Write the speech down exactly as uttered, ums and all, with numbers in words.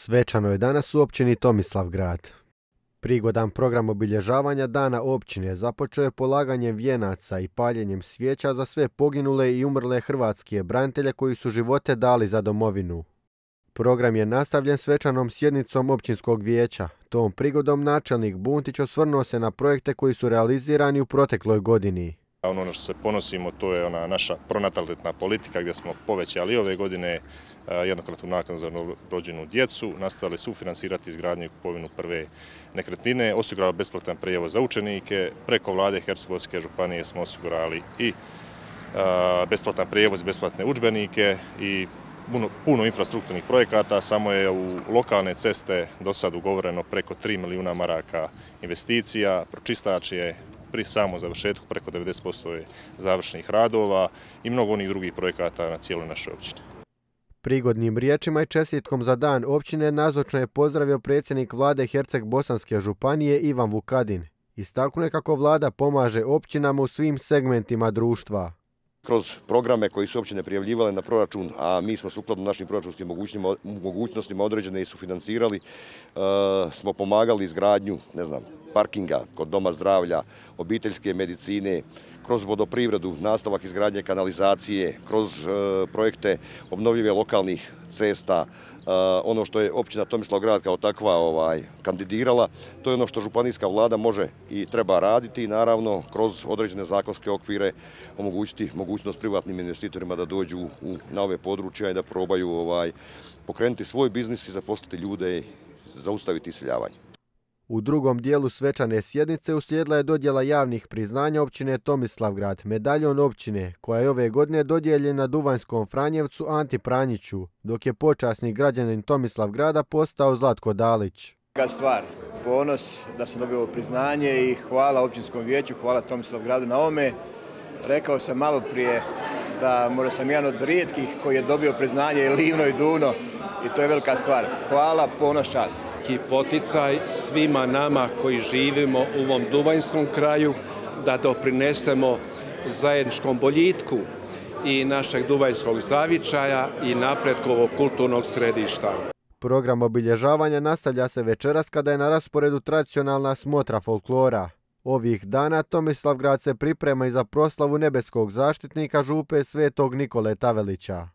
Svečano je danas u općini Tomislavgrad. Prigodan program obilježavanja dana općine započeo je polaganjem vijenaca i paljenjem svijeća za sve poginule i umrle hrvatske branitelje koji su živote dali za domovinu. Program je nastavljen svečanom sjednicom općinskog vijeća. Tom prigodom načelnik Buntić osvrnuo se na projekte koji su realizirani u protekloj godini. Ono što se ponosimo, to je ona naša pronatalitetna politika gdje smo povećali ove godine jednokratnu naknadu za rođenu djecu, nastavili sufinansirati izgradnju i kupovinu prve nekretnine, osigurali besplatan prijevoz za učenike, preko vlade Hercegovske županije smo osigurali i besplatan prijevoz, besplatne udžbenike i puno, puno infrastrukturnih projekata. Samo je u lokalne ceste do sad ugovoreno preko tri milijuna maraka investicija, pročistač je pri samom završetku preko devedeset posto je završenih radova i mnogo onih drugih projekata na cijeloj našoj općini. Prigodnim riječima i čestitkom za dan općine nazočno je pozdravio predsjednik vlade Herceg-Bosanske županije Ivan Vukadin. Istaknuo je kako vlada pomaže općinama u svim segmentima društva. Kroz programe koji su općine prijavljivale na proračun, a mi smo sukladno našim proračunskim mogućnostima određene i sufinansirali, smo pomagali izgradnju, ne znam, parkinga kod doma zdravlja, obiteljske medicine, kroz vodoprivredu, nastavak izgradnje kanalizacije, kroz projekte obnovljive lokalnih cesta. Ono što je općina Tomislavgrad kao takva ovaj, kandidirala, to je ono što županijska vlada može i treba raditi i naravno kroz određene zakonske okvire omogućiti mogućnost privatnim investitorima da dođu u, na ove područja i da probaju ovaj, pokrenuti svoj biznis i zaposliti ljude i zaustaviti iseljavanje. U drugom dijelu svečane sjednice uslijedila je dodjela javnih priznanja općine Tomislavgrad, medaljon općine, koja je ove godine dodijeljena Duvanjskom Franjevcu Anti Pranjiću, dok je počasni građanin Tomislavgrada postao Zlatko Dalić. Kad stvar, ponos da sam dobio priznanje i hvala općinskom vijeću, hvala Tomislavgradu na ome. Rekao sam malo prije da možda sam jedan od rijetkih koji je dobio priznanje i Livno i Duvno i to je velika stvar. Hvala, ponos, čast. I poticaj svima nama koji živimo u ovom duvanjskom kraju da doprinesemo zajedničkom boljitku i našeg duvanjskog zavičaja i napretku ovog kulturnog središta. Program obilježavanja nastavlja se večeras kada je na rasporedu tradicionalna smotra folklora. Ovih dana Tomislavgrad se priprema i za proslavu nebeskog zaštitnika župe Svetog Nikole Tavelića.